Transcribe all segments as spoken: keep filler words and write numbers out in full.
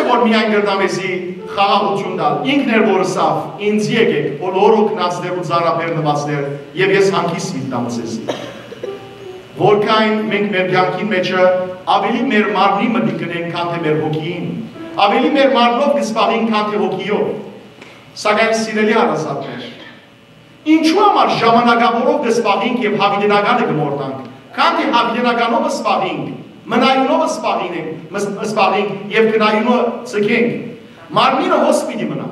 որ միայն կրնայ մեզի խաղաղութիւն տալ։ Ինքն էր որ ըսաւ. «Ինծի եկէք, բոլոր հոգնածներ ու ծանրաբեռնուածներ, եւ ես հանգիստ պիտի տամ ձեզի»։ Որքան մենք մեր կեանքին մէջը աւելի մեր մարմնին մտիկ կ'ընենք, քան թէ մեր հոգիին, աւելի մեր մարմնով կը զբաղենք, քան թէ հոգիով։ Սակայն, սիրելի հարազատներ, ինչու համար ժամանակաւորով կը զբաղենք եւ յաւիտենականը կը մոռնանք, քան թէ յաւիտենականով զբաղենք, մնայունով զբաղենք, մս-, զբաղենք եւ կնայունը ձգենք։ Մարմինը հոս պիտի մնայ։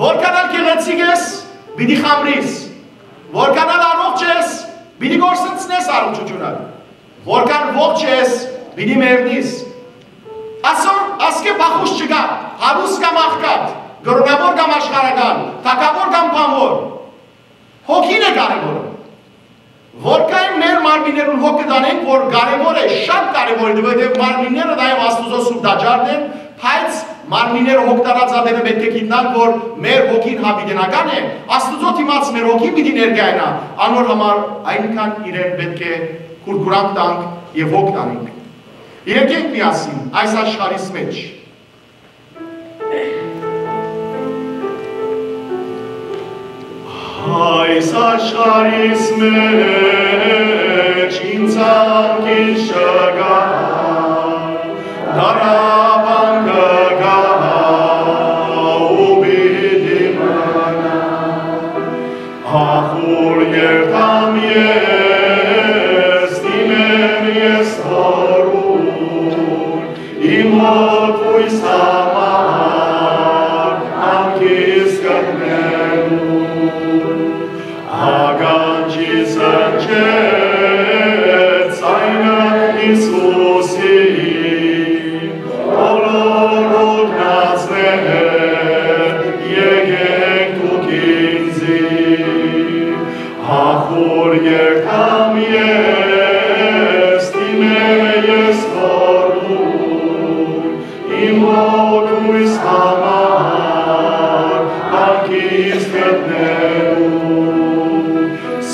Որքան ալ գեղեցիկ ես, պիտի խամրիս։ Որքան ալ առողջ ես, պիտի կորսնցնես առողջութիւնը։ Որքան ողջ ես, պիտի մեռնիս։ Ասոր ասկէ փախուստ չկայ, հարուստ կամ աղքատ, կրօնաւոր կամ աշխարհական, թագաւոր կամ բանուոր։ Հոգին է կարեւորը։ Որքան մեր մարմիններուն հոգ կը տանենք, որ կարեւոր է, շատ կարեւոր է, որովհետեւ մարմինները նաեւ Աստուծոյ սուրբ տաճարն են, բայց մարմինները հոգ տարած ատենը պէտք է գիտնանք, որ մեր հոգին յաւիտենական է, Աստուծոյ դիմաց մեր հոգին պիտի ներկայանայ, անոր համար այնքան իրեն պէտք է կուրկուրանք տանք եւ հոգ տանենք։ Եկենք միասին այս աշխարհիս մէջ։ Այս աշխարհիս մէջ ինձ անկից չկայ, տառապանքը կայ ու պիտի մնայ։ Ախուր երթամ ես, դիմեմ ես Հօրուն, իմ հոգոյս համար անկից գտնելու։ Ականջիս հնչեց ձայնը Յիսուսի, բոլոր հոգնածներ, եկէք դուք ինծի, ախուր երթամ ես, դիմեմ ես Հօրուն, իմ հոգոյս համար անկից գտնելու։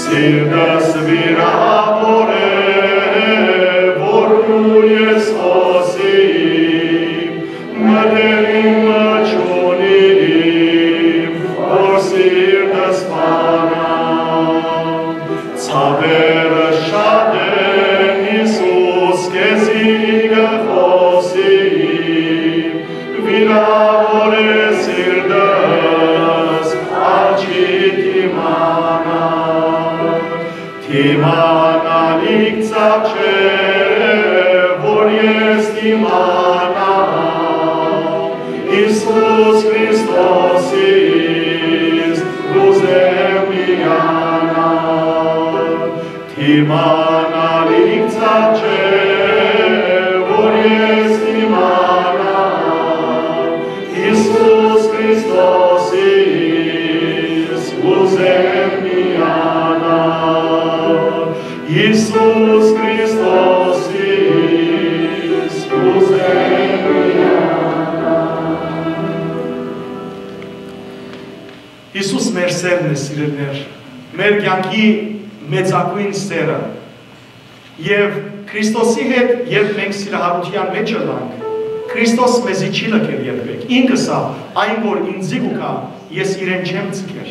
Սիրտս վիրաւոր է, որ ես խօսիմ, մտերիմ մը չունիմ, որ սիրտս բանայ։ Ցաւերը շատ են, Յիսուս, քեզի կը խօսիմ, վիրաւոր է սիրտս, ալ չի դիմանալ։ Դիմանալիք ծաւ չէ, որ ես դիմանամ, Յիսուս Քրիստոսիս կ'ուզեմ միանալ։ Դիմանալիք ծաւ չէ, որ ես դիմանամ, Յիսուս Քրիստոսիս կ'ուզեմ միանալ, Յիսուս Քրիստոսիս կ'ուզեմ միանալ։ Յիսուս մեր սէրն է, սիրելիներ, մեր կեանքի մեծագոյն սէրը։ Եւ Քրիստոսի հետ, երբ մենք սիրահարութեան մէջ ըլլանք, Քրիստոս մեզի չի լքեր երբեք։ Ինք ըսաւ. «Այն որ ինծի կու գայ, ես իրեն չեմ ձգեր»։